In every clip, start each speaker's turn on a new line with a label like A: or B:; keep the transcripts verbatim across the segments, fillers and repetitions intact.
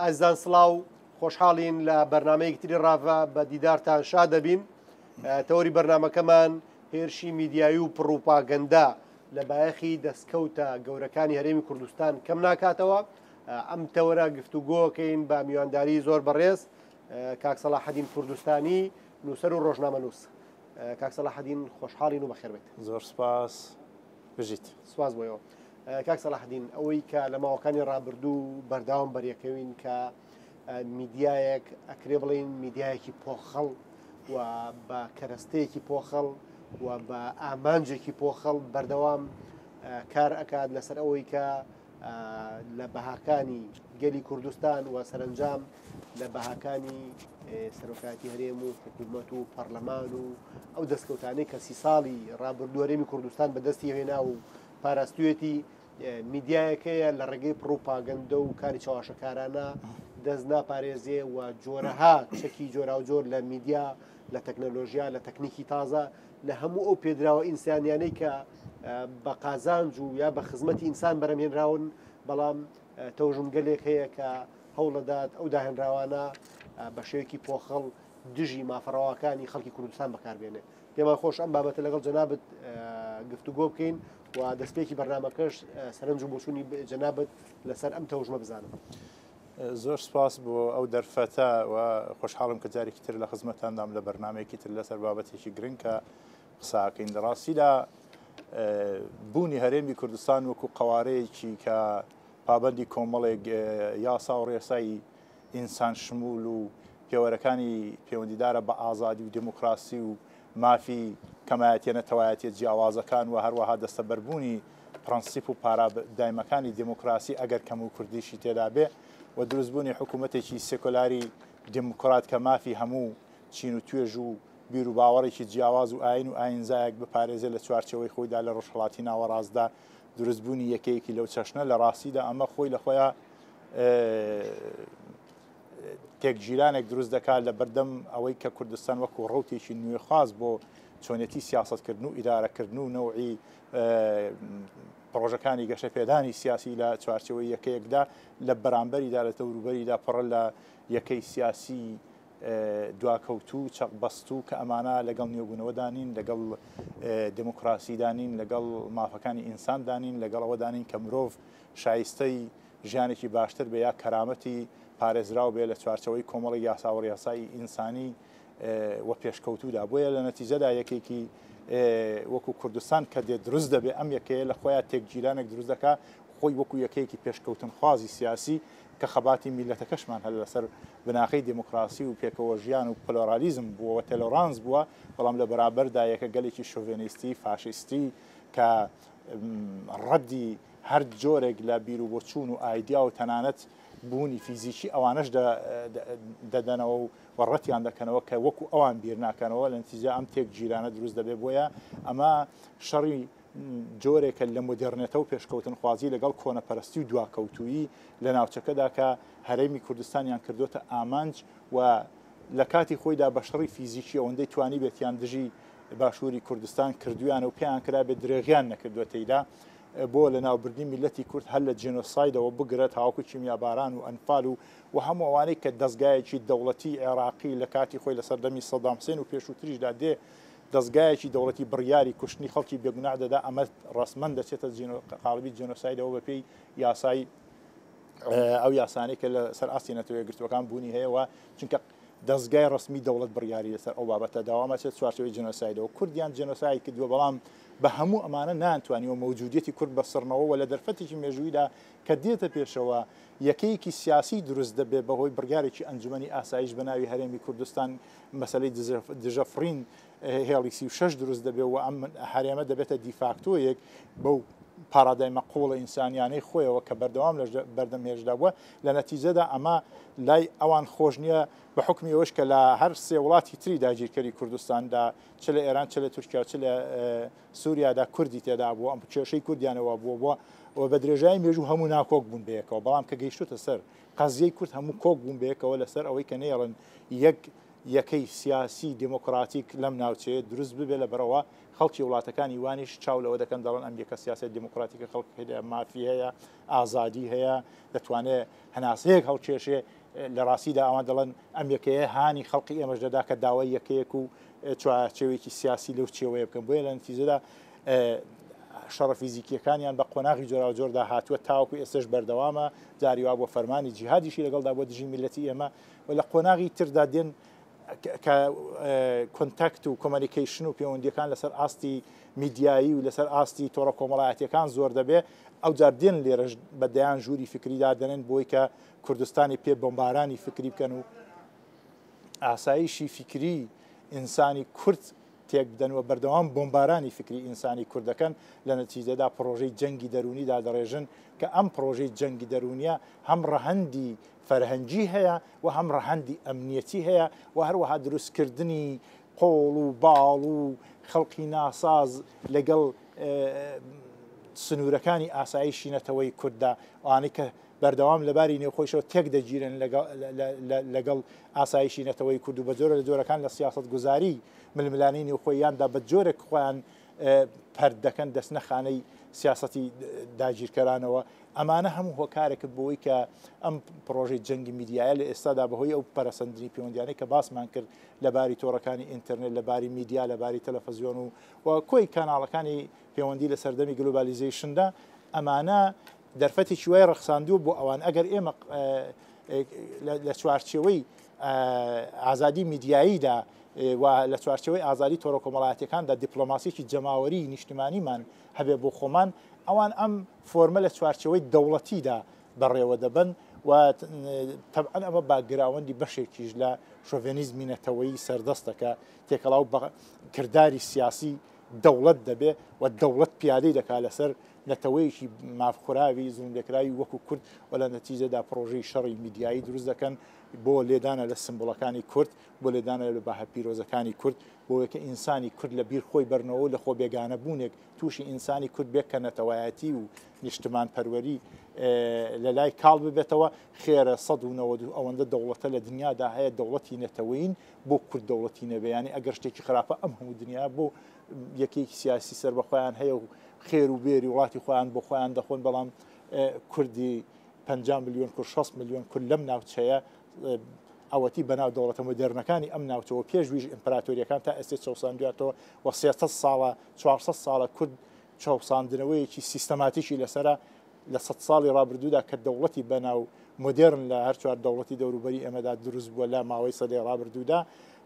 A: ئازیزان سڵاو، خۆشحاڵین لە بەرنامەیەکی تری ڕاڤە بە دیدارتان شاد دەبین. تەوەری بەرنامەکەمان هێرشی میدیایی و پڕوپاگەندە لە بایەخی دەستکەوتە گەورەکانی هەرێمی کوردستان کەم ناکاتەوە. ئەم تەوەرە گفتوگۆکەین بە میوانداری زۆر بەڕێز کاک سەلاحەدین کوردستانی، نووسەر و ڕۆژنامەنووس. کاک سەلاحەدین خۆشحاڵین و بەخێربێت.
B: زۆر سپاس، بژیت.
A: سپاس بۆیەوە. کاک سەلاحەدین، ئەوەی کە لە ماوەکانی ڕابردوو بەرداوام بەریەکەوین کە میدیایەک ئەکرێ بڵین میدیایەکی پۆخەڵ و بە کەرەستەیەکی پۆخەڵ و بە ئامانجێکی پۆخەڵ بەردەوام کار ئەکات لەسەر ئەوەی کە لە بەهاکانی گەلی کوردستان و سەرنجام لە بەهاکانی سەرۆکاتی هەرێم و حکوومەت و پەرلەمان و ئەو دەستکەوتانەی کە سی ساڵی ڕابردوو هەرێمی کوردستان بەدەستی هێنا و پاراستوێتی میدیایەکەیە لە ڕێگەی پڕوپاگەندە و کاری چاواشەکارانە دەست ناپارێزێ و جۆرەها چەکی جۆراوجۆر لە میدیا، لە تەکنەلۆژیا، لە تەکنیکی تازە، لە هەموو ئەو پێدراوە ئینسانیانەی کە بە قازانج و یا بە خزمەتی ئینسان بەرەمهێنراون، بەڵام تەوژمگەلێک هەیە کە هەوڵەدات ئەو داهێنراوانە بە شێوەیەکی پۆخەڵ دژی مافەڕەواکانی خەڵکی کوردستان بەکاربێنێ. پێمان خۆش ئەم بابەتە لەگەڵ جەنابت گفتوگۆ بکەین و دەستپێکی بەرنامەکەش سەرنج و بۆچوونی جەنابت لەسەر ئەم تەوژمە بزانم.
B: زۆر سپاس بۆ ئەو دەرفەتە و خۆشحاڵم کە جارێکی تر لە خزمەتاندام لە بەرنامەیەکی تر لەسەر بابەتێکی گرنگ کە قساکەین. لە ڕاستیدا بوونی هەرێمی کوردستان وەکو قەوارەیەکی کە پابەندی کۆمەڵێک یاسا و ڕێسای ئینسان شمول و پێوەرەکانی پەیوەندیدارە بە ئازادی و دموکراسی و مافی کەمایەتیە نەتەوایەتیە جیاوازەکان و هەروەها دەستەبەربوونی پرەنسیپ و پارادایمەکانی دموکراسی ئەگەر کەم و کوردیشی تێدا بێ و دروستبوونی حکوومەتێکی سێکۆلاری دموکرات کە مافی هەموو چین و توێژ و بیر و باوەڕێکی جیاواز و ئاین و ئاینزایەک بپارێزێ لە چوارچێوەی خۆیدا لە ڕۆژهەڵاتی ناوەڕاستدا دروستبوونی یەکەیەکی لەو چەشنە لە ڕاستیدا ئەمە خۆی لە خۆیان تێکگیرانێک دروست دەکات لە بەردەم ئەوەی کە کوردستان وەکو ڕەوتێکی نوێخواز بۆ چۆنێتی سیاسەتکردن و ئیدارەکردن و نەوعی پرۆژەکانی گەشەپێدانی سیاسی لە چوارچێوەی یەکەیەکدا لە بەرامبەریدا لە دەوروبەریدا پڕە لە یەکەی سیاسی دواکەوتوو چەقبەستوو کە ئەمانە لەگەڵ نوێبوونەوەدا نین، لەگەڵ دموکراسیدا نین، لەگەڵ مافەکانی ئینساندا نین، لەگەڵ ئەوەدا نین کە مرۆڤ شایستەی ژیانێکی باشتر بێ یا کەرامەتی پارێزراو بێ لە چوارچەوەی کۆمەڵی یاسا و ڕێسای ئینسانی و پێشکەوتوودا. بۆیە لە نەتیجەدا یەکێکی وەکو کوردستان کە دێت دروست دەبێ ئەم یەکەیە لە خۆیان تێکگیرانێک دروست دەکا خۆی وەکو یەکەیەکی پێشکەوتنخوازی سیاسی کە خەباتی میلەتەکەشمان هەر لەسەر بناخەی دموکراسی و پێکەوە ژیان و پلۆرالیزم بووە و تێلۆرانس بووە، بەڵام لە بەرابەردا یەکە گەلێکی شۆڤێنیستی فاشیستی کە ڕەدی هەر جۆرێک لە بیر و بۆچوون و ئایدیا و تەنانەت بوونی فیزیکی ئەوانەش دەدەنەوە و ڕەتیان دەکەنەوە کە وەکو ئەوان بیر ناکەنەوە. لە نەتیجە ئەم تێکگیرانە دروست دەبێت. بۆیە ئەمە شەڕی جۆرێکە لە مۆدێرنێتە و پێشکەوتنخوازی لەگەڵ کۆنەپەرستی و دواکەوتویی لە ناوچەکەدا کە هەرێمی کوردستانیان کردوتە ئامانج و لە کاتی خۆیدا بە شەڕی فیزیکی ئەوەندەی توانی بێتیان دژی باشووری کوردستان کردویانە و پێیان کرابێت درێغیان نەکردووە تێیدا بۆ لە ناوبردنی میلەتی کورد هەر لە جینۆسایدەوە بگرە تاوەکو کیمیاباران و ئەنفال و و هەموو ئەوانەی کە دەستگایەکی دەوڵەتی عێراقی لە کاتی خۆی لە سەردەمی سەدام حوسێن و پێشووتریشدا دێ دەستگایەکی دەوڵەتی بڕیاری کوشتنی خەڵکی بێگوناه دەدا، ئەمە ڕەسمەن دەچێتە قاڵبی جینۆسایدەوە بەپێی یاسای ئەو یاسانەی کە لەسەر ئاستی نەتەوە یەکگرتووەکان بوونی هەیە و چونکە دەستگای ڕەسمی دەوڵەت بڕیاری لەسەر ئەو بابەتە داوامە چێت چوارچێوەی جینۆسایدەوە. کوردیان جینۆساید کردووە، بەڵام بە هەموو ئەمانە نانتوانیوە مەوجودیەتی کورد بەسڕنەوە و لە دەرفەتێکی مێژوویدا کە دێتە پێشەوە یەکەیەکی سیاسی دروست دەبێت بەهۆی بڕیارێکی ئەنجومەنی ئاسایش بە ناوی هەرێمی کوردستان مەسەلەی دژەفڕین هێڵی سی و شەش دروست دەبێت و ئەم هەرێمە دەبێتە دیفاکتۆیەک بەو پارادایمە قوڵە ئینسانیانەی خۆیەوە کە بەردەوام لە بەردەم هێشدا بووە. لە نەتیجەدا ئەمە لای ئەوان خۆش نییە بە حکمی ئەوەش کە لە هەر سێ وڵاتی تری داگیرکەری کوردستاندا چ لە ئێران چ لە تورکیا چ لە سووریادا کوردی تێدا بووە، ئەم کێشەی کوردیانەوە بووە بووە و بە درێژایی مێژوو هەموو ناکۆک بوون بەیەکەوە، بەڵام کە گەیشتوتە سەر قەزیەی کورد هەموو کۆک بوون بەیەکەوە لەسەر ئەوەی کە نەیەڵن یەک یەکەی سیاسی دێموکراتیک لەم ناوچەیە دروست ببێ. لە بەرەوە خەڵکی وڵاتەکانی وانیش چاو لەوە دەکەن، دەڵێن ئەم یەکە سیاسی دێموکراتیکە خەڵک هەیە، مافی هەیە، ئازادی هەیە، دەتوانێت هەناسەیەک هەڵکێشێ. لە ڕاستیدا ئەوان دەڵێن ئەم یەکەیە هانی خەڵکی ئێمەش دەدا کە داوای یەکەیەک و چوارچێوەیەکی سیاسی لەو چێوەیە بکەن. بۆیە لە نەتیجەدا شەڕە فیزیکیەکانیان بە قۆناغی جۆراوجۆردا هاتووە تاوەکو ئێستش بەردەوامە، جاری وا بۆ فەرمانی جیهادیشی لەگەڵدا بۆ دژی میللەتی ئێمە. و لە قۆناغی تردا دێن کە contact و communication و پەیوەندیەکان لەسەر ئاستی میدیایی و لەسەر ئاستی تۆڕە کۆمەڵایەتیەکان زۆر دەبێ، ئەو جار دێن لێرەش بە دەیان ژووری فکریدا دەنێن بۆی کە کوردستانی پێ بۆمبارانی فکری بکەن و ئاسایشی فکری ئینسانی کورد تێک بدەن و بەردەوام بۆمبارانی فکری ئینسانی کورد دەکەن. لە نەتیجەدا پرۆژەی جەنگی دەرونیدا دەڕێژن کە ئەم پرۆژەی جەنگی دەرونیە هەم ڕەهەندی فەرهەنگی هەیە و هەم ڕەهەندی ئەمنیەتی هەیە و هەروەها دروستکردنی قۆڵ و باڵ و خەڵکی ناساز لەگەڵ سنوورەکانی ئاسایشی نەتەوەی کورددا، ئەوانەی کە بەردەوام لەباری نێوخۆیشەوە تێک دەگیرن لەگەڵ ئاسایشی نەتەوەی کورد و بە جۆرە لە جۆرەکان لە سیاسەتگوزاری ململانەی نێوخۆیاندا بە جۆرێک خۆیان پەرد دەکەن دەستنە خانەی سیاسەتی داگیرکەرانەوە. ئەمانە هەموو هۆکارێکت بۆی کە ئەم پرۆژەی جەنگی میدیایە لە ئێستادا بەهۆی ئەو پەرەسەندنی پەیوەندیانەی کە باسمان کرد لەباری تۆڕەکانی ئینتەرنێت، لەباری میدیا، لەباری تەلەفەزیۆن و کۆی کاناڵەکانی پەیوەندی لە سەردەمی globalization دا، ئەمانە دەرفەتێکی وای ڕەخساندووە بۆ ئەوان. ئەگەر ئێمە لە چوارچێوەی ئازادی میدیاییدا و لە چوارچێوەی ئازادی تۆڕە کۆمەڵایەتیەکاندا دیپلۆماسیەکی جەماوەری نیشتمانیمان هەبێ بۆ خۆمان، ئەوان ئەم فۆرمە لە چوارچێوەی دەوڵەتیدا بەڕێوە دەبن و تەبعەن ئەمە background ی بەشێکیش لە شۆڤێنیزمی نەتەوەیی سەردەستەکە تێکەڵاو بە کرداری سیاسی دەوڵەت دەبێ و دەوڵەت پیادەی دەکا لەسەر نەتەوەیەکی مافخوراوی زوڵملێکراوی وەکو کورد و لە نەتیجەدا پرۆژەی شەڕی میدیایی دروست دەکەن بۆ لێدانە لە سمبوڵەکانی کورد، بۆ لێدانە لە بەها پیرۆزەکانی کورد، بۆ کە ئینسانی کورد لە بیر خۆی بەرنەوە لە خۆ بێگانە بوونێک تووشی ئینسانی کورد بێت کە نەتەوایەتی و نیشتمان پەروەری لە لای کاڵ ببێتەوە. خێرە سەد و نەوەد و ئەوەندە دەوڵەتە لە دنیادا هەیە دەوڵەتی نەتەوەین بۆ کورد دەوڵەتی نەبێ. یعنی ئەگەر شتێکی خراپە ئەم هەموو دنیا بۆ یەکێکی سیاسی سەر بە خۆیان هەیە و خێر و بێری وڵاتی خۆیان بۆ خۆیان دەخۆن، بەڵام کوردی پەنجا میلیۆن کورد، شەست میلیۆن کورد لەم ناوچەیە ئەوەتی بەناو دەوڵەتە مۆدێرنەکانی ئەم ناوچەوە پێشویش ئیمپراتۆریەکان تا ئێستا چەوساندویاتەوە و سێسەد ساڵە چوارسەد ساڵە کورد چەوساندنەوەیەکی سیستەماتیکی لەسەرە لە سەد ساڵی ڕابردوودا کە دەوڵەتی بەناو مۆدێرن لە هەر چوار دەوڵەتی دەوروبەری ئێمەدا دروست بووە لە ماوەی سەدەی ڕابردوودا،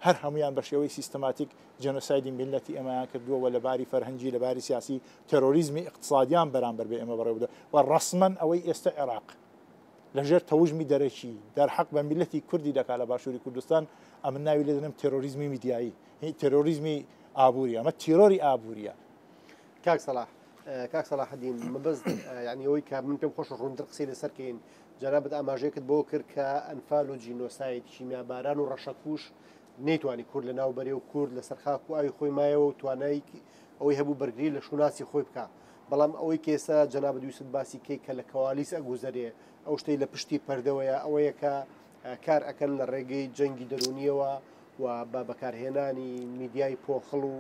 B: هەر هەمویان بە شێوەی سیستەماتیک جێنۆسایدی میللەتی ئێمەیان کردووە و لەباری فەرهەنگی، لەباری سیاسی تێرۆریزمی ئیقتصادیان بەرامبەر بە ئێمە بەڕێوە بردووە و ڕەسمەن ئەوەی ئێستا عێراق لەژێر تەوژمی دەرەکی دەرحەق بە میللەتی کوردی دەکا لە باشووری کوردستان، ئەمن ناوی لێ دەنێم تێرۆریزمی میدیایی، تێرۆریزمی ئابووری، ئەمە تێرۆری ئابووریە.
A: کاک سەلاح، کاک سەلاحەدین، مەبەست یعنی ئەوەی کە من پێم خۆشە ڕوونتر قسەی لەسەر کەین، جەنابت ئاماژەیەکت بۆ کرد کە ئەنفال و جینۆساید، کیمیاباران و ڕەشەکوش نەیتوانی کورد لە ناو بەرێ و کورد لەسەر خاک و ئاوی خۆی مایەوە و توانای ئەوەی هەبوو بەرگری لە شوناسی خۆی بکە. بەڵام ئەوەی کە ئێستا جەنابت ویست باسی کەی کە لە کەوالیس ئەگوزەرێ، ئەو شتەی لە پشتی پەردەوەیە ئەوەیە کە کار ئەکەن لە ڕێگەی جەنگی دەرونیەوە و بە بەکارهێنانی میدیای پۆخڵ و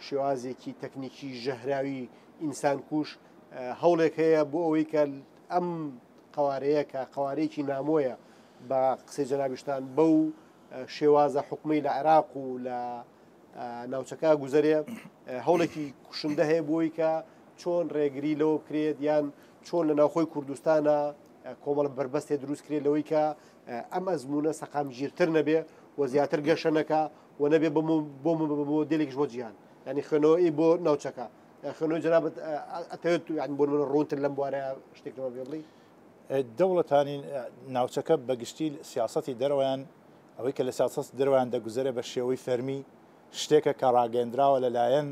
A: شێوازێکی تەکنیکی ژەهراوی ئینسانکوش هەوڵێک هەیە بۆ ئەوەی کە ئەم قوارەیە کە قوارەیەکی نامۆیە بە قسەی جەنابیشتان بەو شێوازە حکومی لە عێراق و لە ناوچەکە گوزەرێ، هەوڵێکی کوشندە هەیە بۆی کە چۆن ڕێگری لەوە بکرێت یان چۆن لە ناوخۆی کوردستانە کۆمەڵە بەربەستێ دروست کرێت لەوەی کە ئەم ئەزمونە سەقامگیرتر نەبێ و زیاتر گەشە نەکا و نەبێ بۆ مۆدێلێکیش بۆ جیهان، یعنی خوێنەوەی بۆ ناوچەکە. خوێنەوەی جەنابت ئەتەوێت یعنی بۆ نمونە ڕوونتر لەم بوارە شتێک لەمە پێ بڵێی؟
B: دەوڵەتانی ناوچەکە بەگشتی سیاسەتی دەرەوەیان، ئەوەی کە لە سیاسەتی دەرەوەیان دەگوزەرێ بە شێوەی فەرمی شتێکە کە ڕاگەندراوە لەلایەن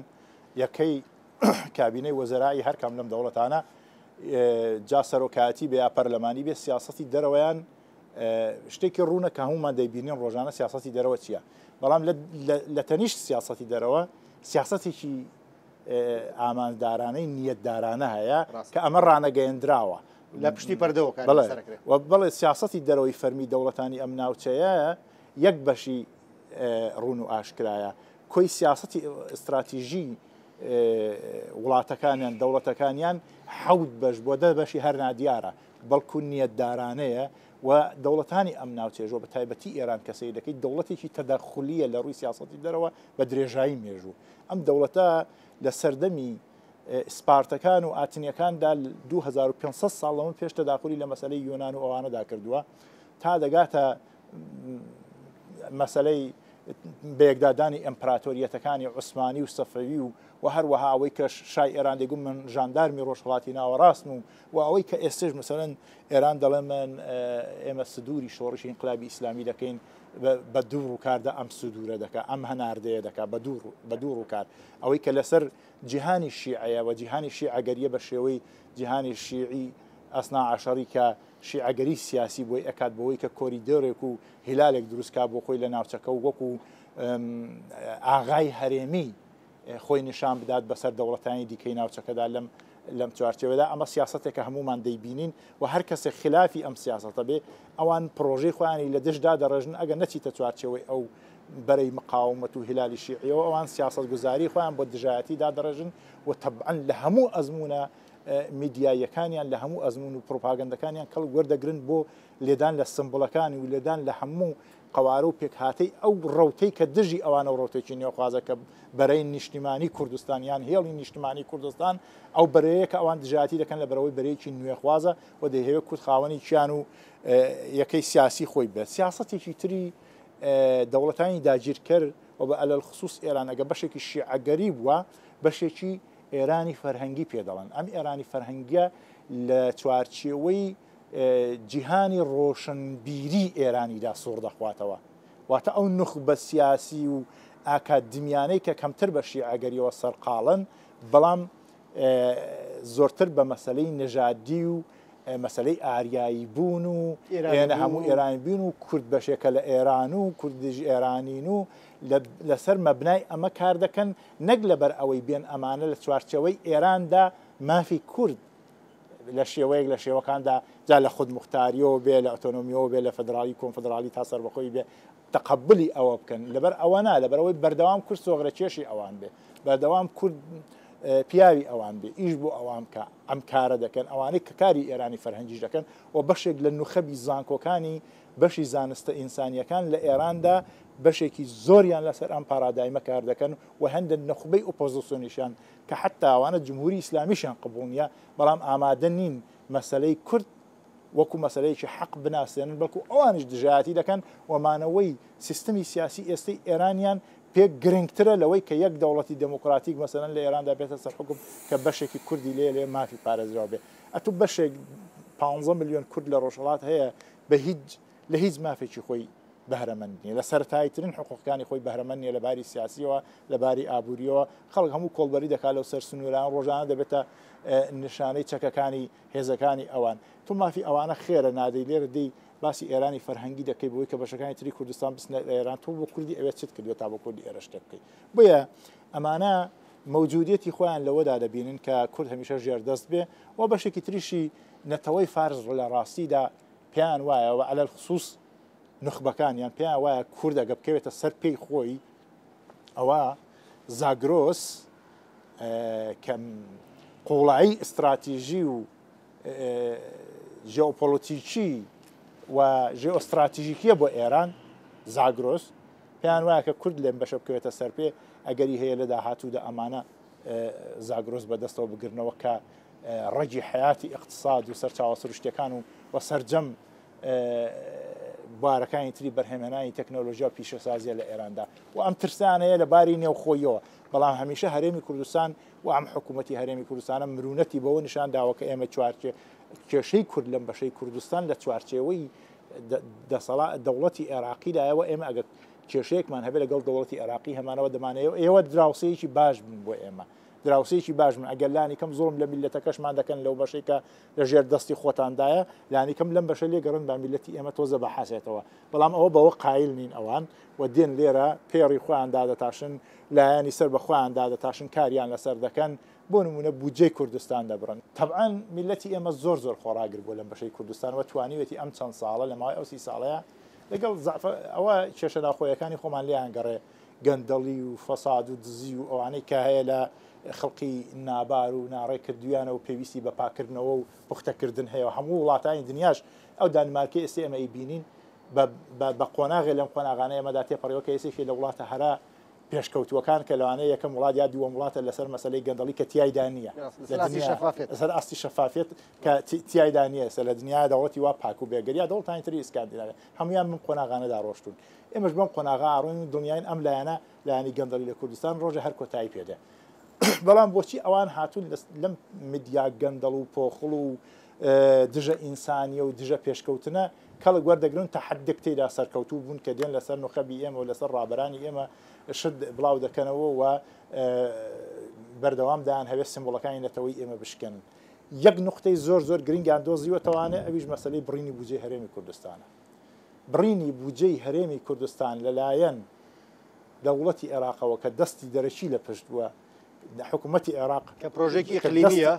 B: یەکەی کابینەی وەزەرایی هەر کام لەم دەوڵەتانە، جا سەرۆکایەتی بێ یا پەرلەمانی بێ، سیاسەتی دەرەوەیان شتێکی ڕوونە کە هەمومان دەیبینین ڕۆژانە سیاسەتی دەرەوە چییە. بەڵام لە تەنیشت سیاسەتی دەرەوە سیاسەتێکی ئاماندارانەی نیەتدارانە هەیە کە ئەمە ڕانەگەیەندراوە
A: لە پشتی پەردەوە
B: بەڵێ سیاسەتی دەرەوەی فەرمی دەوڵەتانی ئەم ناوچەیە یەک بەشی ڕوون و ئاشکرایە. کۆی سیاسەتی ئیستراتیژی وڵاتەکانیان دەوڵەتەکانیان حەوت بەش بۆ دە بەشی هەر نادیارە، بەڵکو نیەتدارانەیە و دەوڵەتانی ئەم ناوچێژەوە بە تایبەتی ئێران کە سەیر دەکەیت دەوڵەتێکی تەدەخولیە لە ڕووی سیاسەتی دەرەوە بە درێژایی مێژوو. ئەم دەوڵەتە لە سەردەمی سپارتەکان و ئاتنیەکاندا دوو هەزار و پێنج سەد ساڵ لەمە پێش تەداخولی لە مەسەلەی یۆنان و ئەوانەدا کردووە تا دەگاتە مەسەلەی بەیەکدادانی ئیمپراتۆریەتەکانی عوسمانی و سەفەوی و و هەروەها ئەوەی کە شای ئێران دەگوت من ژاندارمی ڕۆژهەڵاتی ناوەڕاستم و و ئەوەی کە ئێستش مثلەن ئێران دەڵێ من ئێمە سدووری شۆڕشی ئینقلابی ئیسلامی دەکەین بە دوو ڕووکاردا ئەم سدوورە دەکا، ئەم هەناردەیە دەکا بە دوو ڕووکار. ئەوەی کە لەسەر جیهانی شیعەیە و جیهانی شیعەگەریە بە شێوەی جیهانی شیعی ئەسنا عەشەری کە شیعەگەری سیاسی بۆی ئەکات بەوەی کە کۆریدۆرێک و هیلالێک دروستکا بۆ خۆی لە ناوچەکە و وەکو ئاغای هەرێمی خۆی نیشان بدات بەسەر دەوڵەتانی دیکەی ناوچەکەدا لەم لەم چوارچێوەدا. ئەمە سیاسەتێکە هەمومان دەیبینین و هەر کەسێک خلافی ئەم سیاسەتە بێ ئەوان پرۆژەی خۆیانی لە دژدا دەڕێژن ئەگەر نەچیتە چوارچێوەی ئەو بەرەی مقاومەت و هیلالی شیعیەوە، ئەوان سیاسەتگوزاری خۆیان بۆ دژایەتی دادەڕێژن و تەبعەن لە هەموو ئەزمونە میدیاییەکانیان لە هەموو ئەزمون و پرۆپاگەندەکانیان کەڵک وەردەگرن بۆ لێدان لە سمبڵەکانی و لێدان لە هەموو قەوارە و پێکهاتەی ئەو ڕەوتەی کە دژی ئەوانە و ڕەوتێکی نێوخوازە کە بەرەی نیشتیمانی کوردستان یان هێڵی نیشتیمانی کوردستان ئەو بەرەیە کە ئەوان دژایەتی دەکەن لە بەرەوەی بەرەیەکی نوێخوازە و دەیهەوێت کورد خاوەنی کیان و یەکەی سیاسی خۆی بێت. سیاسەتێکی تری دەوڵەتانی داگیرکەر و بە ئەلەلخصوص ئێران ئەگە بەشێکی شیعەگەری بووە بەشێکی ئێرانی فەرهەنگی پێدەڵن. ئەم ئێرانی فەرهەنگیە لە چوارچێوەی جیهانی ڕۆشنبیری ئێرانیدا سوڕ دەخواتەوە، واتە ئەو نوخبە سیاسی و ئاکادمیانەی کە کەمتر بە شیعەگەریەوە سەرقاڵن بەڵام زۆرتر بە مەسلەی نەژادی و مەسلەی ئاریایی بوون و ئێنە هەموو ئێرانی بوون و کورد بەشێکە لە ئێران و کوردیش ئێرانین و لەسەر مەبنای ئەمە کار دەکەن، نەک لەبەر ئەوەی بێن ئەمانە لە چوارچێوەی ئێراندا مافی کورد لە شێوەیەک لە شێوەکاندا جا لە خودموختاریەوە بێ لە ئۆتۆنۆمیەوە بێ لە فدرالی کۆنفدرالی تا سەربەخۆی بێ تەقەبلی ئەوە بکەن. لەبەر ئەوە نا، لەبەرەوەی بەردەوام کورد سۆغرە کێشی ئەوان بێ، بەردەوام کورد پیاوی ئەوان بێ، ئیش بۆ ئەوان بکە، ئەم کارە دەکەن. ئەوانەی کە کاری ئێرانی فەرهەنگیش دەکەن و بەشێک لە نوخەبی زانکۆکانی بەشی زانستە ئینسانیەکان لە ئێراندا بەشێکی زۆریان لەسەر ئەم پارادایمە کار دەکەن و هەندێک نوخبەی ئۆپۆزیسیۆنیشیان کە حتا ئەوانە جمهوری ئیسلامیشیان قبوڵ نییە، بەڵام ئامادە نین مەسلەی کورد وەکو مەسلەیەکی حەق بناسێنن، بەڵکو ئەوانیش دژایەتی دەکەن و مانەوەی سیستمی سیاسی ئێستەی ئێرانیان پێ گرنگترە لەوەی کە یەک دەوڵەتی دێموکراتیک مەسەلەن لە ئێراندا بێتە سەر حکوم کە بەشێکی کوردی لێ لێ مافی پارێزراو بێ. ئەتوو بەشێک پانزە ملیۆن کورد لە ڕۆژهەڵات هەیە بە هیچ لە هیچ مافێکی خۆی بەهرەمەند نییە، لە سەرەتاییترین حقوقەکانی خۆی بەهرەمەند نییە لە باری سیاسیەوە لە باری ئابووریەوە. خەڵک هەموو کۆڵبەری دەکات لەو سەر سنووران، ڕۆژانە دەبێتە نیشانەی چەکەکانی هێزەکانی ئەوان. تۆ مافی ئەوانە خێرە نادەی، لێرە دەی باسی ئێرانی فەرهەنگی دەکەی بۆی کە بەشەکانی تری کوردستان بچنە ئێران. تۆ بۆ کوردی ئەوێت چت کردووە تا بۆ کوردی ئێرە شتێک بکەیت؟ بۆیە ئەمانە مەوجودیەتی خۆیان لەوەدا دەبینن کە کورد هەمیشە ژێردەست بێ و بەشێکی تریشی نەتەوەی فارس لە ڕاستیدا پێیان وایە و عەلەلخصوص نوخبەکانیان پێیان وایە کورد ئەگە بکەوێتە سەر پێی خۆی ئەوە زاگرۆس کە قوڵایی ئیستراتیژی و ژیۆپۆلۆتیکی و ژیۆستراتیژیکیە بۆ ئێران زاگرۆس پێیان وایە کە کورد لێم بەشە بکەوێتە سەر پێ ئەگەری هەیە لە داهاتوودا ئەمانە زاگرۆس بەدەستەوە بگرنەوە کە ڕەگی حیاتی اقتصاد و سەرچاوە سروشتیەکان و سەرجەم بوارەکانی تری بەرهەمهێنانی تەکنۆلۆژیا و پیشەسازیە لە ئێراندا و ئەم ترسانەیە لە باری نێوخۆیەوە. بەڵام هەمیشە هەرێمی کوردستان و ئەم حکوومەتی هەرێمی کوردستانە مرونەتی بەوە نیشان داوە کە ئێمە چوارچێ کێشەی کورد لەم بەشەی کوردستان لە چوارچێوەی دەسەڵات دەوڵەتی عێراقیدایەوە ئێمە ئەگەر کێشەیەکمان هەبێت لەگەڵ دەوڵەتی عێراقی هەمانەوە دەمانەیەوە ئێوە دراوسەیەکی باش بن بۆ ئێمە، دراوسەیەکی باش بن. ئەگەر لانی کەم زۆرم لە میلەتەکەشمان دەکەن لەو بەشەی کە لەژێر دەستی خۆتاندایە، لانی کەم لەم بەشە لێگەڕن با میلەتی ئێمە تۆزە بەحاسێتەوە. بەڵام ئەوە بەوە قایل نین ئەوان و دێن لێرە پێڕی خۆیان دادەتاشن، لایەنی سەر بە خۆیان دادەتاشن، کاریان لەسەر دەکەن، بۆ نمونە بودجەی کوردستان دەبڕن. تەبعاً میلەتی ئێمە زۆر زۆر خۆڕاگر بوو لەم بەشەی کوردستان و توانیوێتی ئەم چەند ساڵە لە ماوەی ئەو سی ساڵەیە لەگەڵ ئەوە کێشە ناوخۆیەکانی خۆمان لێیان گەڕێ، گەندەڵی و فەساد و دزی و ئەوانەی کە هەیە لە خەڵکی نابار و ناڕێکردویانە و پێویستی بە پاکردنەوە و پوختەکردن هەیە. هەموو وڵاتانی دنیاش ئەو دانیمارکەی ئێستا ئێمە ئەیبینین بە قۆناغێ لەم قۆناغانە ئێمەدا تێپەڕیەوە کە ئێسێکی لە وڵاتە هەرا پێشکەوتووەکان کە لەوانەیە یەکەم وڵات یا دووەم وڵاتە لەسەر مەسلەی گەندەڵی کە تیایدا نییە، لەسەر ئاستی شەفافیەت کە تیایدا نییە. ئێستا لە دنیا دەوڵەتی وا پاک و بێگەر یا دەوڵەتانی تری ئیسکاندیناوی هەمویان بەم قۆناغانەدا ڕۆشتون. ئێمەش بەم قۆناغا ئاڕۆین و دڵنیاین ئەم لایەنە لایەنی گەندەڵی لە کوردستان ڕۆژە هەر کۆتایی پێدێ. بەڵام بۆچی ئەوان هاتوون لەم میدیا گەندەڵ و پۆخڵ و دژە ئینسانیە و دژە پێشکەوتنە کەڵک وەردەگرن تا حدێک تێدا سەرکەوتوو بوون کە دێن لەسەر نوخەبی ئێمە و لەسەر ڕابەرانی ئێمە شت بڵاو دەکەنەوە و بەردەوام دایان هەوێ سیمبوڵەکانی نەتەوەی ئێمە بشکێنن. یەک نقطەی زۆر زۆر گرنگیان دۆزیوەتەوانێ، ئەویش مەسلەی بڕینی بودجەی هەرێمی کوردستانە. بڕینی بودجەی هەرێمی کوردستان لەلایەن دەوڵەتی عێراقەوە کە دەستی دەرەکی لە پشت بووە، حکوومەتی عێراق
A: کە پرۆژێکی ئیقلیمیە،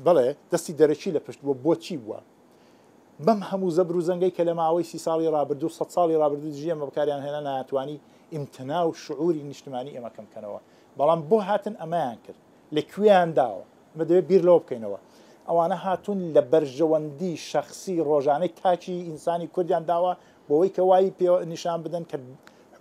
B: بەڵێ دەستی دەرەکی لە پشت بووە. بۆچی بووە؟ بەم هەموو زەبر و زەنگەی کە لە ماوەی سی ساڵی ڕابردوو سەد ساڵی ڕابردوو دژی ئێمە بەکاریان هێنا ناتوانی ئیمتنا و شعوری نیشتمانی ئێمە کەم بکەنەوە. بەڵام بۆ هاتن ئەمەیان کرد، لەکوێیان داوە؟ ئەمە دەبێت بیر لەوە بکەینەوە. ئەوانە هاتوون لە بەرژەوەندی شەخسی ڕۆژانەی تاکی ئینسانی کوردیان داوە بۆەوەی کە وای پێ نیشان بدەن کە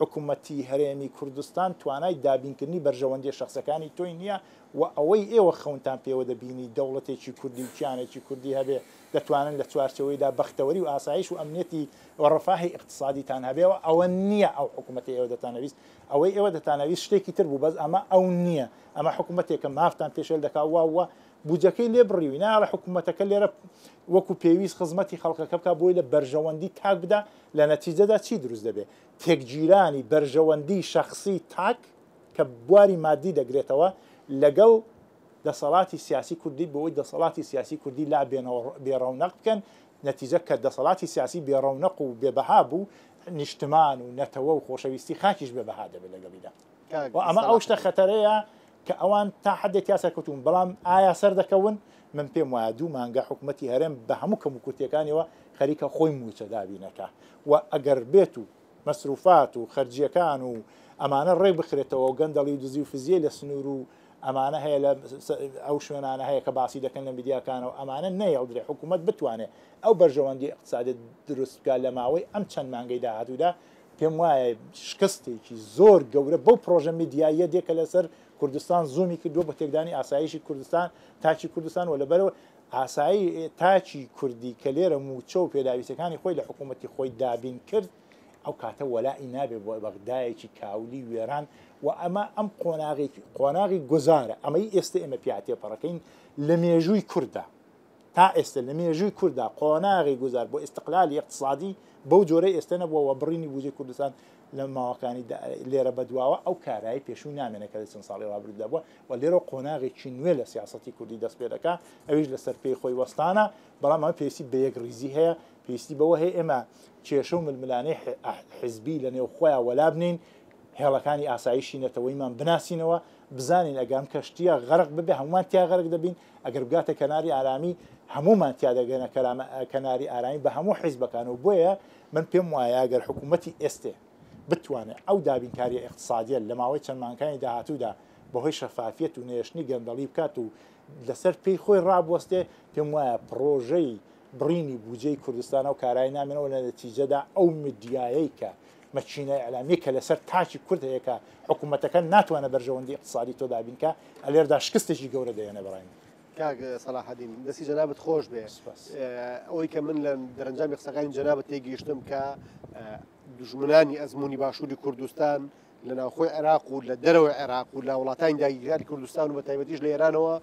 B: حکوومەتی هەرێمی کوردستان توانای دابینکردنی بەرژەوەندی شەخسەکانی تۆی نییە و ئەوەی ئێوە خەونتان پێوە دەبینی دەوڵەتێکی کوردی و کیانێکی کوردی هەبێ دەتوانن لە چوارچەوەیدا بەختەوەری و ئاسایش و ئەمنیەتی و ڕەفاهی ئیقتصادیتان هەبێەوە. ئەوە نییە ئەو حکوومەتی ئێوە دەتانەویست. ئەوەی ئێوە دەتانەویست شتێکی تر بوو، بەس ئەمە ئەو نییە. ئەمە حکوومەتێکە مافتان پێشێل دەکا وا وە بودجەکەی لێ بڕیوی، ناڵە حکوومەتەکە لێرە وەکو پێویست خزمەتی خەڵکەکە بکا بۆی لە بەرژەوەندی تاک بدا. لە نەتیجەدا چی دروست دەبێت؟ تێکگیرانی بەرژەوەندی شەخسی تاک کە بواری مادی دەگرێتەوە لەگەڵ دەسەڵاتی سیاسی کوردی، بۆی دەسەڵاتی سیاسی کوردی لا بێڕەونەق بکەن. نەتیجە کە دەسەڵاتی سیاسی بێڕەونەق و بێبەها بوو، نیشتمان و نەتەوە و خۆشەویستی خاکیش بێبەها دەبێت لەگەڵیدا. و ئەمە ئەو شتە خەتەرەیە کە ئەوان تا حدێک تیا سەرکەوتون. بەڵام ئایا سەر دەکەون؟ من پێم وایە دوو مانگە حکوومەتی هەرێم بە هەموو کەم و کورتیەکانیەوە خەریکە خۆی موچە دابینەکە و ئەگەر بێت و مەسروفات و خەرجیەکان و ئەمانە ڕێک بخرێتەوە و گەندەڵی و دزی و فزیە لە سنوور و ئەمانە هەیە لە ئەو شوێنانە هەیە کە باسی دەکەن لە میدیاکانەوە، ئەمانە نەیەڵدرێ حکوومەت بتوانێت ئەو بەرژەوەندی ئیقتصادی دروست بکات لە ماوەی ئەم چەند مانگەی داهاتوودا. پێم وایە شکستێکی زۆر گەورە بەو پرۆژە میدیاییە دێ کە لەسەر کوردستان زوومی کردووە بە تێکدانی ئاسایشی کوردستان، تاکی کوردستان و لەبەرەوە ئاسایی تاکی کوردی کە لێرە موچە و پێداویستەکانی خۆی لە حکوومەتی خۆی دابین کرد، ئەو کاتە وەلائی نابێ بۆ بەغدایەکی کاولی وێران. و ئەمە ئەم قۆناغێکی قۆناغی گوزارە، ئەمەی ئێستا ئێمە پیاتێپەڕەکەین لە مێژووی کووردا. تا ئێستا لە مێژووی کووردا قۆناغی گوزار بۆ ئیستقلالی اقتصادی بەو جۆرەی ئێستا نەبووەوە. بڕینی بودجەی کوردستان لە ماوەکانی لێرە بەدواوە ئەو کارایی پێشوو نامێنە کە لە چەند ساڵی ڕابردوودا بووە و لێرە قۆناغێکی نوێ لە سیاسەتی کوردی دەست پێ دەکا، ئەویش لەسەر پێی خۆی وەستانە. بەڵام ئەمە پێویستی بە یەک ڕیزی هەیە، پێویستی بەوە هەیە ئێمە کێشە و ململانەی حیزبی لە نێو خۆیان وەلا بنین، هێڵەکانی ئاسایشی نەتەوەیمان بناسینەوە، بزانین ئەگەر ئەم کەشتیە غەرق ببێ هەمومان تیا غەرق دەبین، ئەگەر بگاتە کەناری ئارامی هەمومان تیا دەگەنە کەناری ئارامی بە هەموو حیزبەکانەوە. بۆیە من پێم وایە ئەگەر حکوومەتی ئێستێ بتوانێت ئەو دابینکاریە ئیقتصادیە لە ماوەی چەند مانگانی داهاتوودا بەهۆی شەفافیەت و نێشتنی گەندەڵی بکات و لەسەر پێی خۆی ڕابوەستێ، پێم وایە پرۆژەی بڕینی بودجەی کوردستانە و کارایی نامێنەوە. لە نەتیجەدا ئەو میدیایەی کە مەچینە ئیعلامی کە لەسەر تاکی کورد هەیە کە حکوومەتەکە ناتوانێت بەرژەوەندی ئیقتصادی تۆ دابینکە، ئەلێردا شکستێکی گەورە دەهێنێ بەڕای من.
A: کاک سەلاحەدین، دەستی جەنابت خۆش بێ. ئەوەی کە من لە دەرەنجامی قسەکانی جەنابت تێگەیشتم کە دژمنانی ئەزمموی باشووری کوردستان لە ناوخۆی عێراق و لە دەرەوەی عێراق و لە وڵاتانی داگیرکاری کوردستان و بە تایبەتیش لە ئێرانەوە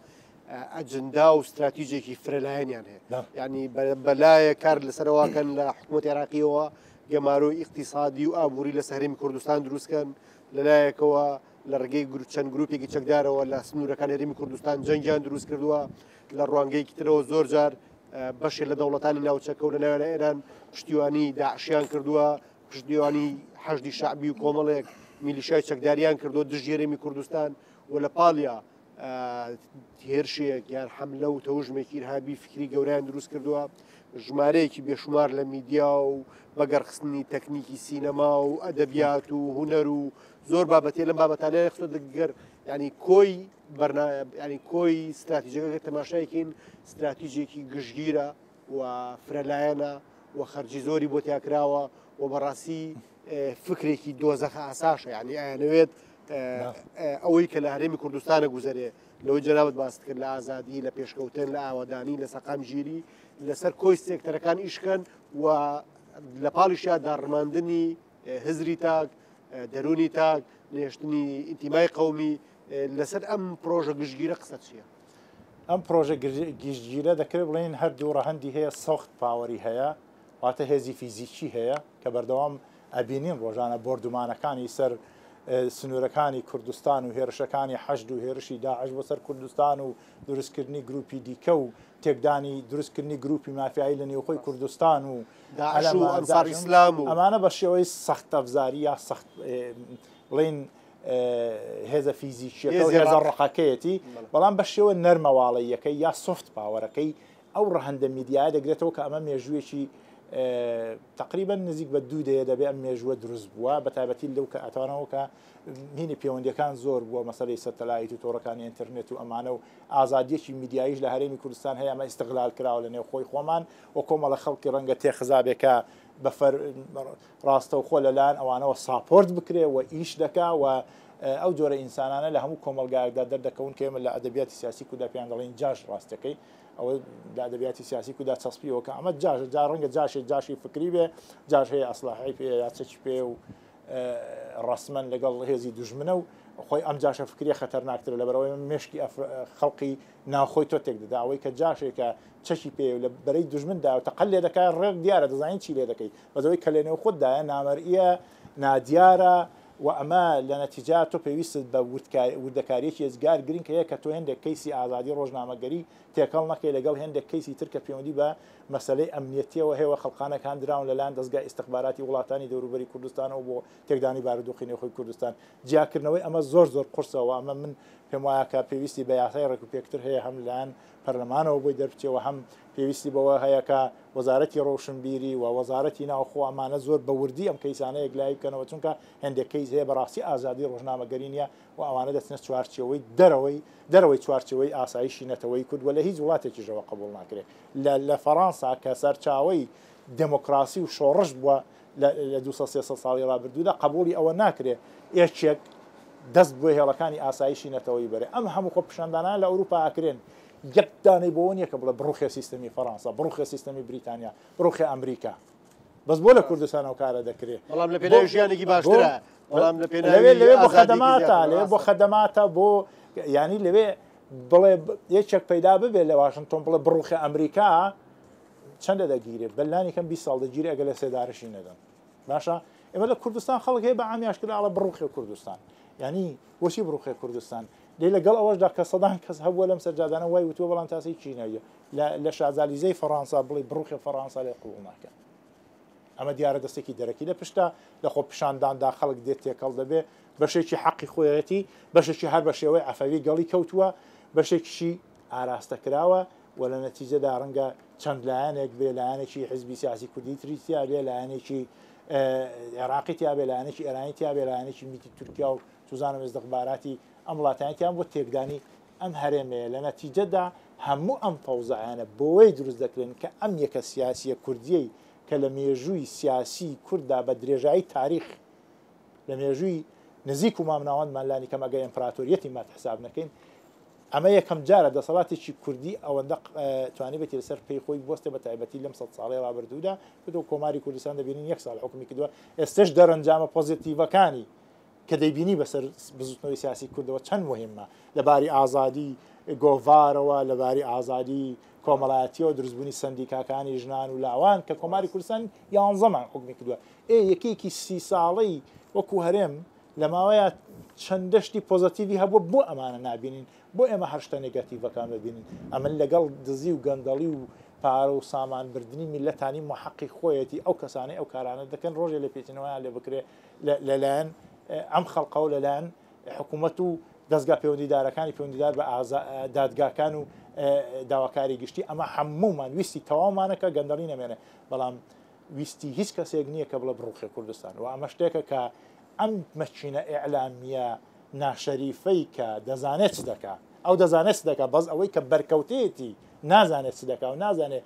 A: ئەجندا و استراتیژێکی فرەلایەنیان هەیە. یعنی بەلایە کار لەسەرەوەکەن لە حکوومەت عێراقیەوە گەمارۆی ئیقتصادی و ئابووری لە هەرێمی کوردستان دروستکەن، لەلایەکەوە لە ڕێگەی چەند گروپێکی چەکدارەوە لە سنوورەکان هەرێمی کوردستان جەنگیان دروست کردووە، لە ڕوانگەیەکی ترەوە زۆر جار بەشێ لە دەوڵەتانی ناوچەکە و لە ناویان ئێران پشتیوانی داعشیان کردووە، پشتیوانی حەشدی شەعبی و کۆمەڵێک میلیشای چەکداریان کردووە دژی هەرێمی کوردستان و لە پاڵیا هێرشێک یان حەملە و تەوژمێکی ئیرهابی فکری گەورەیان دروست کردووە، ژمارەیەکی بێشومار لە میدیا و بەگەڕخستنی تەکنیکی سینەما و ئەدەبیات و هونەر و زۆر بابەتێ لەم بابەتانەیە خستۆ دەگەر ینی کۆی ینی کۆی استراتیژەکە تەماشایەکین استراتیژێکی گشتگیرە و فرەلایەنە و خەرجی زۆری بۆ تیاکراوە و بەڕاستی فکرێکی دۆزەخە ئاساشە، یعنی ئەیانەوێت ئەوەی کە لە هەرێمی کوردستانە گوزەرێ لەوەی جەنابت باست کرد لە ئازادی، لە پێشکەوتن، لە ئاوادانی، لە سەقامگیری، لەسەر کۆی سێکتەرەکان ئیشکەن و لە پاڵیشیا داڕماندنی هزری تاک، دەرونی تاک، نێشتنی ئینتیمای قەومی. لەسەر ئەم پرۆژە گشتگیرە قسە چییە؟
B: ئەم پرۆژە گشتگیرە دەکرێت بڵێن هەردوو ڕەهەندی هەیە، soft power ی هەیە، واتە هێزی فیزیکی هەیە کە بەردەوام ئەبینین ڕۆژانە بۆردومانەکانی سەر سنوورەکانی کوردستان و هێرشەکانی حەشد و هێرشی داعش بۆ سەر کوردستان و دروستکردنی گروپی دیکە و تێکدانی دروستکردنی گروپی مافیایی لە نێوخۆی کوردستان و
A: داعش و ئەنسار ئیسلام و
B: ئەمانە بە شێوەی سەخت ئەفزاری یا سەخت بڵێن هێزە فیزیکیەکە و هێزە ڕقەکەیەتی، بەڵام بە شێوە نەرمەواڵەیەکەی یا soft power ەکەی ئەو ڕەهەندە میدیایە دەگرێتەوە کە ئەمە مێژوویەکی تقریبا نزیک بە دوو دەیە دەبێ ئەم مێژووە دروست بووە، بە تایبەتی لەو کە ئەتوانەوە کە هینی پەیوەندیەکان زۆر بووە، مەسەلەی سەتەلایت و تۆڕەکانی ئینتەرنێت و ئەمانە و ئازادیەکی میدیاییش لە هەرێمی کوردستان هەیە، ئەمە ئیستغلال کراوە لە نێوخۆی خۆمان و کۆمەڵە خەڵکی ڕەنگە تێخزابێکە بە ڕاستەوخۆ لەلایەن ئەوانەوە support بکرێ و ئیش دەکا و ئەو جۆرە ئینسانانە لە هەموو کۆمەلگایەکدا دەردەکەون کە ئێمە لە ئەدەبیاتی سیاسی کودا پێیان دەڵێن جاش ڕاستەکەی، ئەوە لە ئەدەبیاتی سیاسی کودا چەسپیەوە کە ئەمە جاش جا ڕەنگە جاشێ جاشی فکری بێ، جاش هەیە ئەسلاحی پێ یا چەکی پێ و ڕەسمەن لەگەڵ هێزی دوژمنە و خۆی ئەم جاشە فکریە خەتەرناکترە لەبەرەوەی مشکی خەڵقی ناوخۆی تۆ تێک دەدا، ئەوەی کە جاشێکە چەکی پێ و لە بەرەی دوژمندا و تەقەل لێ دەکات ڕێک دیارە دەزانین چی لێ دەکەی، بەزەوەی کە لێنێو خۆتدایە نامەرئیە نادیارە و ئەمە لە نەتیجا تۆ پێویستت بە وردەکاریەکی ئێجگار گرنگ هەیە کە تۆ هێندێک کەیسی ئازادی ڕۆژنامەگەری تێکەڵ نەکەی لەگەڵ هێندێک کەیسی تر کە پەیوەندی بە مەسلەی ئەمنیەتیەوە هەیە و خەڵقانەکان دراون لەلایەن دەستگای ئیستخباراتی وڵاتانی دەوروبەری کوردستانەوە بۆ تێکدانی بارودۆخی نێوخۆی کوردستان. جیاکردنەوەی ئەمە زۆر زۆر قورسەوە، ئەمە من پێم وایە کە پێویستی بە یاسای ڕێکوپێکتر هەیە، هەم لەلایەن پەرلەمانەوە بۆی دەربچێەوە، هەم پێویستی بەوە هەیە کە وەزارەتی ڕۆشنبیری و وەزارەتی ناوخۆ ئەمانە زۆر بە وردی ئەم کەیسانە یەکلایی بکەنەوە، چونکە هەندێک کەیس هەیە بەڕاستی ئازادی ڕۆژنامەگەری نییە و ئەوانە دەچنە چوارچێوەی دەرەوەی دەرەوەی چوارچێوەی ئاسایشی نەتەوەی کورد و لە هیچ وڵاتێکیشەوە قبوڵ ناکرێت. لە فەڕەنسا کە سەرچاوەی دێمۆکراسی و شۆڕش بووە لە دوو سەد سێ سەد ساڵی ڕابردوودا قبوڵی ئەوە ناکرێت یەکێک دەست بۆ هێڵەکانی ئاسایشی نەتەوەی بەرێ. ئەم هەموو خۆپیشاندانان لە ئەوروپا ئاکرێن، یەک دانەی بۆ نییە کە بڵێ بڕوخێ سیستەمی فەڕەنسا، بڕوخێ سیستەمی بریتانیا، بڕوخێ ئەمریکا، بەس بۆ لە کوردستان ئەو کارە دەکرێت.
A: بەڵام لە پێناوی ژیانێکی باشترە، بەڵام لە
B: پێناوی لەوێ بۆ خەدەماتە، لەوێ بۆ خەدەماتە بۆ یانی لەوێ بڵێ یەکێک پەیدا ببێ لە واشنگتۆن بڵێ بڕوخێ ئەمریکا چەندە دەگیرێت؟ بەلانی کەم بیست ساڵ دەگیرێت ئەگەر لە سێدارەشی نەدەن. باشە ئێمە لە کوردستان خەڵک هەیە بە عامیاش کرد ئاڵە بڕوخێ کوردستان، یعنی بۆچی بڕوخێ کوردستان؟ لێ لەگەڵ ئەوەشدا کە سەدان کەس هەبووە لەم سەرجادانە وای وتووە، بەڵام تاسەی چینەیە لە شازالیزەی فەڕەنسا بڵێ بڕوخێ فەڕەنسا لێ قبوڵ ناکەن. ئەمە دیارە دەستێکی دەرەکی لە پشتا لە خۆ پیشانداندا خەڵک دێت تێکەڵ دەبێ، بەشێکی حەقی خۆیەتی، بەشێکی هەر بە شێوەی عەفەوی گەڵی کەوتووە، بەشێکیشی ئاراستە کراوە و لە نەتیجەدا ڕەنگە چەند لایەنێک بێ، لایەنێکی حزبی سیاسی کوردی تری تیا بێ، لایەنێکی عێراقی تیا بێ، لایەنێکی ئێرانی تیا بێ، لایەنێکی میتی تورکیا و توزانم ئیستخباراتی ئەم وڵاتانیان بۆ تێکدانی ئەم هەرێمەیە. لە نەتیجەدا هەموو ئەم فەوزایانە بۆی دروست دەکرێن کە ئەم یەکە سیاسیە کوردیەی کە لە مێژووی سیاسی کورددا بە درێژایی تاریخ لە مێژووی نزیک و مامناوەندمان لانی کەم ئەگەر ئیمپراتۆریەتی مات حساب نەکەین، ئەمە یەکەم جارە دەسەڵاتێکی کوردی ئەوەندە توانیبێتی لەسەر پێی خۆی بوەستێ بە تایبەتی لەم سەد ساڵەی ڕابردوودا کە تۆ کۆماری کوردستان دەبینین یەک ساڵ حکومی کردووە، ئێستش دەرەنجامە پۆزیتیڤەکانی کە دەیبینی بەسەر بزوتنەوەی سیاسی کوردەوە چەند مهمە لەباری ئازادی گۆڤارەوە، لەباری ئازادی کۆمەڵایەتیەوە، دروستبوونی سندیکاکانی ژنان و لاوان کە کۆماری کوردستان یانزەمان حکومی کردووە. ئێ یەکێکی سی ساڵەی وەکو هەرێم لە ماوەیە چەند دەشتی پۆزیتیڤی هەبووە، بۆ ئەمانە نابینین، بۆ ئێمە هەر شتە نێگەتیڤەکان ببینین. ئەمن لەگەڵ دزی و گەندەڵی و پارە و سامانبردنی میلەتانی محەقی خۆیەتی ئەو کەسانەی ئەو کارانە دەکەن ڕۆژێ لە پێچینەوەیان لێ بکرێ لەلایەن ئەم خەڵقەوە، لەلایەن حکوومەت و دەستگا پەیوەندیدارەکانی پەیوەندیدار بە دادگاکان و داواکاری گشتی. ئەمە هەموومان ویستی تەواومانە کە گەندەڵی نەمێنێ، بەڵام ویستی هیچ کەسێک نییە کە بڵێ بڕوخێ کوردستان. و ئەمە شتێکە کە ئەم مەچینە ئیعلامیە ناشەریفەی کە دەزانێت چ دەکا، ئەو دەزانێت چ دەکا، بەس ئەوەی کە بەرکەوتێتی نازانێت چ دەکا و نازانێت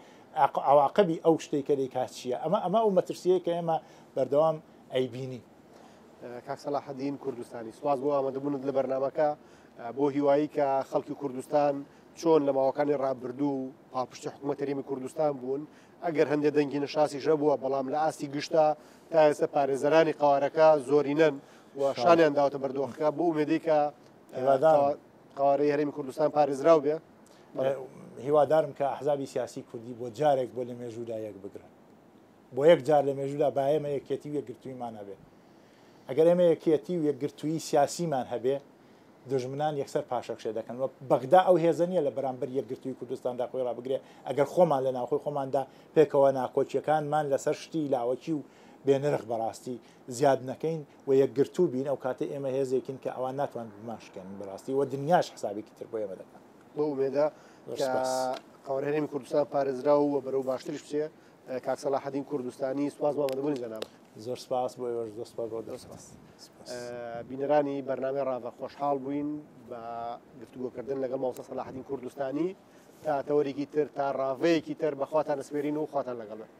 B: عواقبی ئەو شتێک کە دەیکات چییە. ئەمە ئەمە ئەو مەترسیەیە کە ئێمە بەردەوام ئەیبینی.
A: کاک سەلاحەدین کوردستانی، سوپاس بۆ ئامادەبوونت لە بەرنامەکە، بۆ هیوایی کە خەڵکی کوردستان چۆن لە ماوەکانی ڕابردوو پاڵپشتی حکوومەت هەرێمی کوردستان بوون، ئەگەر هەندێک دەنگی نەشاسیش هەبووە، بەڵام لە ئاستی گشتا تا ئێستا پارێزەرانی قوارەکە زۆرینەن و شانیان داوەتە بەردۆخەکە بۆ ئومێدەی کە قوارەی هەرێمی کوردستان پارێزراو بێ.
B: هیوادارم کە ئەحزابی سیاسی کوردی بۆ جارێک بۆ لە مێژوودا یەک بگرن، بۆ یەک جار لە مێژوودا با ئێمە یەکێتی و یەکگرتوویمان هەبێ. ئەگەر ئێمە یەکێتی و یەکگرتوویی سیاسیمان هەبێ، دژمنان یەکسەر پاشەکشێ دەکەن. و بەغدا ئەو هێزە نییە لە بەرامبەر یەکگرتووی کوردستاندا خۆی ڕابگرێ ئەگەر خۆمان لە ناوخۆی خۆماندا پێکەوە ناکۆکیەکانمان لەسەر شتی لاوەکی و بێنرخ بەڕاستی زیاد نەکەین و یەکگرتوو بین، ئەو کاتە ئێمە هێزێکین کە ئەوان ناتوان بماشکێنن بەڕاستی و دنیاش حسابێکی تر بۆ ئێمە دەکەن.
A: بۆ ئومێدە کە قوارەی هەرێمی کوردستان پارێزراو و بەرەو باشتریش بچێ. کاک سەلاحەدین کوردستانی، سوپاس بۆ ئامادەبوونی جەناب.
B: زۆر سپاس بۆ ئێوەش، زۆر سپاس بۆ دەست.
A: بینەرانی بەرنامەی ڕاڤە خۆشحاڵ بووین بە گفتوگۆکردن لەگەڵ مامۆستا سەلاحەدین کوردستانی تا تەوەرێکی تر، تا ڕاڤەیەکی تر بەخواتان ئەسپێرین و خواتان لەگەڵ بێت.